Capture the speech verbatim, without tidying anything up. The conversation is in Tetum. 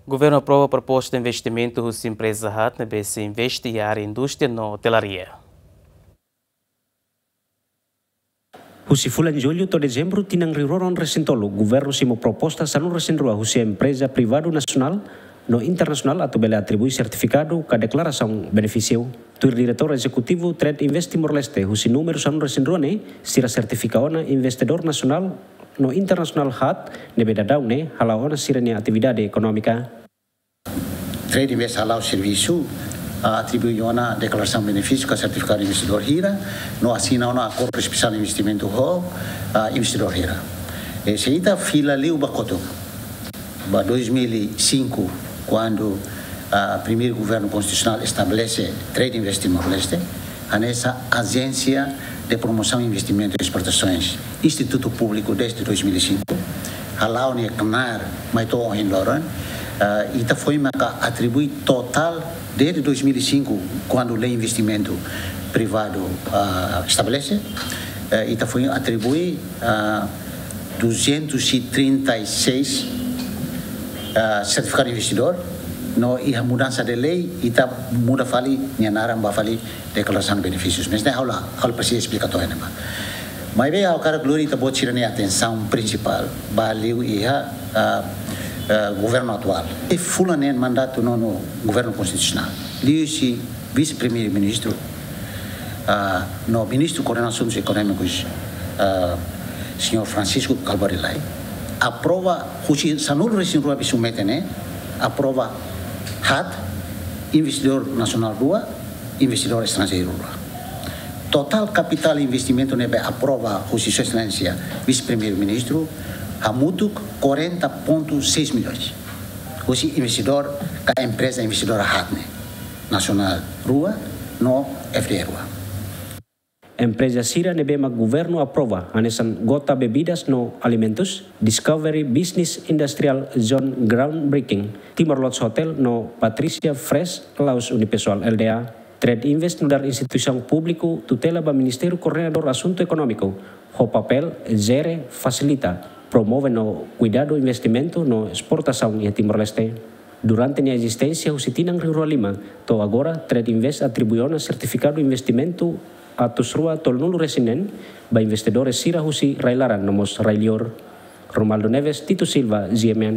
Governu aprova proposta investimentu husi empreza HAT ne'ebé sei investe iha área indústria no otelaria. Husi fulan Jullu to'o Dezembru tinan rihun rua ruanulu-resin-tolu, governu simu proposta sanulu-resin-rua husi empreza privadu nasionál no internasionál atu bele atribui sertifikadu ka deklarasaun benefísiu. Tuir Diretór Ezekutivu Trade Invest Timor-Leste, husi númeru sanulu-resin-rua ne'e, sira sertifika ona investidór nasionál no internasionál HAT ne'ebé daudaun ne'e hala'o ona sira-nia atividade ekonómika. Trade Invest hala'o servisu, ah, atribui ona deklarasaun benefísiu ka sertifikadu investidór hira, no asina ona akordu espesiál investimentu ho, ah, investidór hira. E se ita fila liu ba kotuk, ba dois mil e cinco, kuandu, ah, primeiru governu konstitusionál estabelese Trade Invest Timor-Leste, hanesan Agência de Promoção Investimento e Exportações, institutu públiku dezde dois mil e cinco, hala'o nia knaar mai to'o ohin loron, ah, ita foin maka atribui totál dezde dois mil e cinco, kuandu lei investimentu privadu, ah, estabelese, eh, ita foin atribui, ah, duzentos e trinta e seis, ah, sertifikadu investidór, no iha mudansa de lei, ita muda fali nia naran ba fali deklarasaun benefísius. Mas ne'e ha'u la, ha'u la presiza esplika to'o iha ne'ebá. Maibé ha'u hakarak lori ita-boot sira-nia atensaun prinsipál ba liu iha, ah, ah, governu atuál. Iha fulan neen mandatu nonu governu konstitusionál, liuhusi vise-primeiru-ministru, ah, no ministru koordena asuntus ekonómikus, ah, señór Francisco Kalbuadi Lay, aprova husi sanulu-resin-rua be submete ne'e, aprova HAT, investidór nasionál rua, investidór estranjeiru rua. Totál kapitál investimentu ne'ebé aprova husi Sua Exelénsia Vise-Primeiru-Ministru hamutuk quarenta ponto seis milhões. Husi investidór ka empreza investidór HAT ne'e, nasionál rua no F D I rua. Empreza sira ne'ebé mak governu aprova hanesan Gota Bebidas no Alimentus, Discovery Business Industrial Zone Groundbreaking, Timor Lodge Hotel no Patricia Fresh Laos Unipessoal Lda. Trade Invest nu'udar instituisaun públiku tutela ba Ministériu Koordenadór Asuntu Ekonómiku, ho papél jere, fasilita, promove no kuidadu investimentu no esportasaun iha Timor-Leste. Durante nia ezisténsia husi tinan rihun rua lima to'o agora, Trade Invest atribui ona sertifikadu investimentu atus rua tolunulu-resin-neen ba investidores sira husi rai-laran no mós rai-liur. Romualdo Neves, Tito Silva, G M N.